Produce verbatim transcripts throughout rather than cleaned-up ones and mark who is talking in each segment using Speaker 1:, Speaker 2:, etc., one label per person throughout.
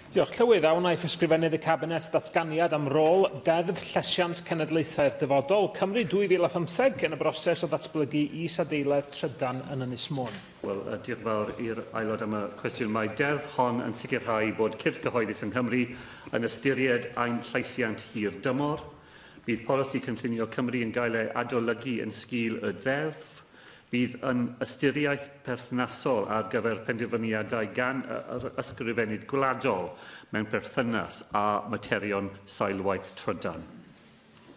Speaker 1: Diolch. Llywydd, a wnaiff Ysgrifennydd y Cabinet ddatganiad am rôl Deddf Llesiant Cenedlaethau'r Dyfodol Cymru dwy fil a phymtheg yn y broses o ddatblygu isadeiledd trydan yn Ynys Môn?
Speaker 2: Wel, uh, diolch yn fawr i'r aelod am y cwestiwn. Mae deddf hon yn sicrhau bod cyrff cyhoeddus yng Nghymru yn ystyried ein llesiant hir dymor. Bydd polisi cynllunio Cymru yn gael ei adolygu yn sgil y ddeddf. Bydd yn ystyriaeth perthnasol ar gyfer penderfyniadau gan yr Ysgrifennydd Gwladol mewn perthynas â materion seilwaith trydan.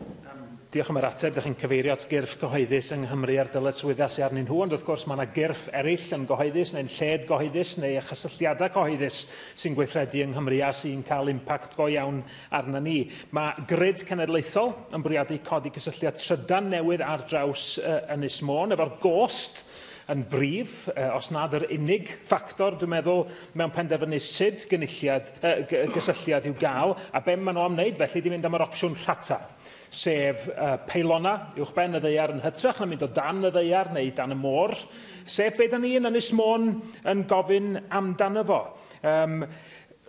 Speaker 1: Um, diolch am yr ateb. Dych chi'n cyfeirio at gyrff gyhoeddus yng Nghymru a'r dyletswyddau sydd arnyn nhw, ond wrth gwrs mae yna gyrff eraill yn gyhoeddus neu'n lled gyhoeddus neu chysylltiadau cyhoeddus sy'n gweithredu yng Nghymru a sy'n cael impact go iawn arna ni. Mae Grid Cenedlaethol yn bwriadu codi cysylltiad trydan newydd ar draws uh, Ynys Môn efo'r gost yn brif, os nad yr unig ffactor, dwi'n meddwl, mewn penderfynu sut gynulliad, uh, gysylltiad i'w gael, a be maen nhw am wneud felly di mynd am yr opsiwn rhata, sef uh, peilona uwchben y ddaear yn hytrach na mynd o dan y ddaear neu dan y môr, sef be da ni yn Ynys Môn yn gofyn amdano fo. Um,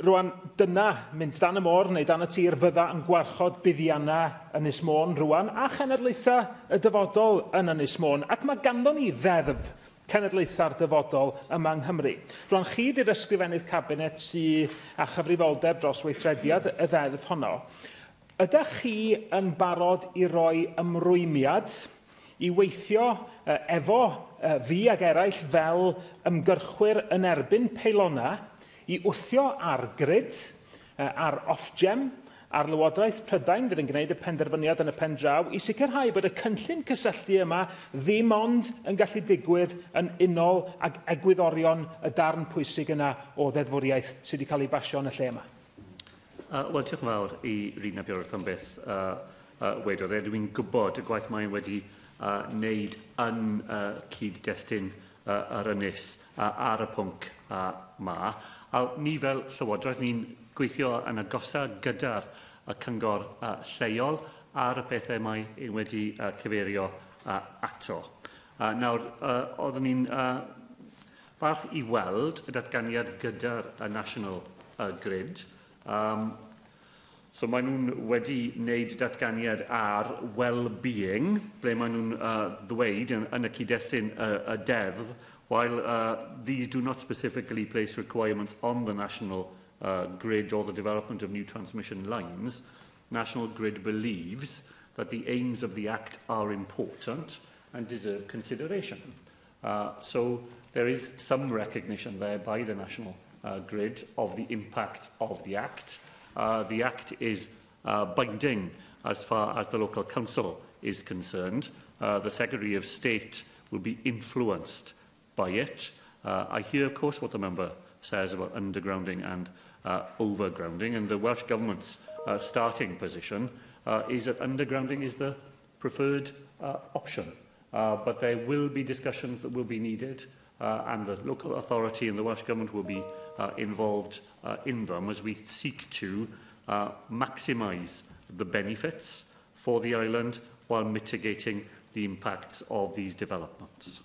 Speaker 1: Rwan, dyna, mynd dan y môr neu dan y tir, fydda yn gwarchod buddiannau Ynys Môn rwan a chenedlaethau y dyfodol yn Ynys Môn. Ac mae ganddo ni ddeddf cenedlaethau'r dyfodol yma yng Nghymru. Rwan, chi di'r Ysgrifennydd Cabinet sydd â chyfrifoldeb dros weithrediad y ddeddf honno. Ydych chi yn barod i roi ymrwymiad i weithio efo fi ag eraill fel ymgyrchwyr yn erbyn peilona i wthio ar grid, ar Ofgem, ar Lywodraeth Prydain fydd yn gwneud y penderfyniad yn y pen draw i sicrhau bod y cynllun cysylltu yma ddim ond yn gallu digwydd yn unol ag egwyddorion y darn pwysig yna o ddeddfwriaeth sydd wedi cael ei basio yn y lle yma?
Speaker 2: Uh, Wel, diolch yn fawr i Rhun ap Iorwerth am beth uh, uh, wedodd e. Dwi'n gwybod y gwaith mae'n wedi uh, wneud yn uh, cyd-destun uh, yr ynys uh, ar y pwnc uh, ma. A ni fel Llywodraeth, ni'n gweithio yn agosa gyda'r y cyngor uh, lleol ar y pethau mae e wedi uh, cyfeirio uh, ato. Uh, nawr, uh, oeddwn ni'n uh, falch i weld y datganiad gyda'r uh, National uh, Grid. Um, so maen nhw'n wedi wneud datganiad ar well-being, ble maen nhw'n uh, ddweud yn, yn y cyd-destun y, y deddf, while uh, these do not specifically place requirements on the national uh, grid or the development of new transmission lines, National Grid believes that the aims of the Act are important and deserve consideration. Uh, so there is some recognition there by the National uh, Grid of the impact of the Act. Uh, the Act is uh, binding as far as the local council is concerned. Uh, the Secretary of State will be influenced by it. Uh, I hear, of course, what the member says about undergrounding and uh, overgrounding, and the Welsh Government's uh, starting position uh, is that undergrounding is the preferred uh, option. Uh, but there will be discussions that will be needed, uh, and the local authority and the Welsh Government will be uh, involved uh, in them as we seek to uh, maximise the benefits for the island while mitigating the impacts of these developments.